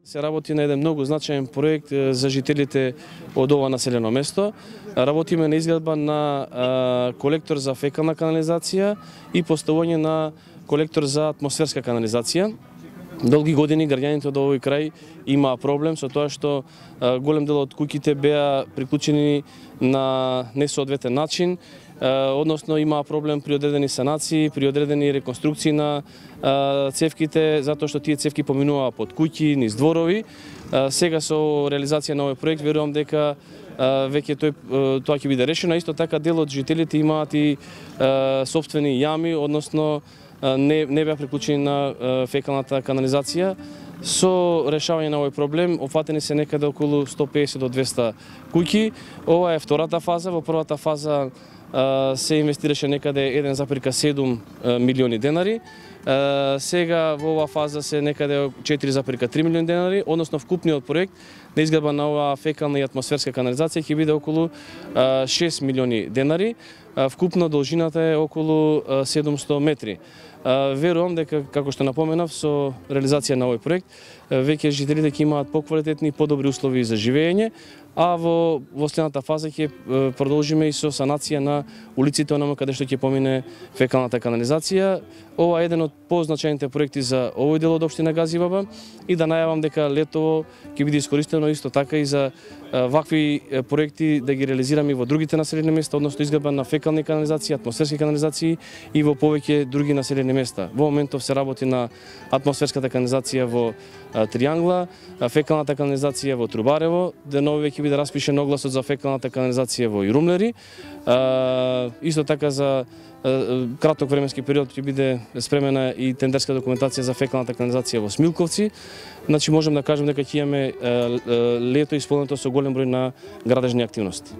Се работи на еден многу значаен проект за жителите од ова населено место. Работиме на изградба на колектор за фекална канализација и поставување на колектор за атмосферска канализација. Долги години граѓаните од овој крај имаа проблем со тоа што голем дел од куќите беа приклучени на несоодветен начин, односно имаа проблем при одредени санации, при одредени реконструкции на цевките, затоа што тие цевки поминуваа под куќи, низ дворови. Сега со реализација на овој проект верувам дека веќе тоа ќе биде решено. Исто така дел од жителите имаат и сопствени јами, односно не беа приклучени на фекалната канализација. Со решавање на овој проблем опфатени се некаде околу 150 до 200 куќи. Ова е втората фаза. Во првата фаза се инвестираше некаде 1,7 милиони денари. Сега во оваа фаза се некаде 4,3 милиони денари, односно вкупниот проект на изградба на оваа фекална и атмосферска канализација ќе биде околу 6 милиони денари. Вкупно должината е околу 700 метри. Верувам дека, како што напоменав, со реализација на овој проект веќе жителите ќе имаат поквалитетни и подобри услови за живење, а во следната фаза ќе продолжиме и со санација на улиците онаму каде што ќе помине фекалната канализација. Ова е еден од позначајните проекти за овој дел од општина Газибаба и да најавам дека летово ќе биде искористено исто така и за вакви проекти да ги реализираме во другите населени места, односно изградба на фекални канализации, атмосферски канализации и во повеќе други населени места. Во моментов се работи на атмосферската канализација во Триангла, фекалната канализација во Трубарево, деново веќе биде распишен огласот за фекалната канализација во Ирумлери. Исто така за краток временски период ќе биде спремена и тендерска документација за фекалната канализација во Смилковци. Значи можам да кажем дека ќе имаме лето исполнето со голем број на градежни активности.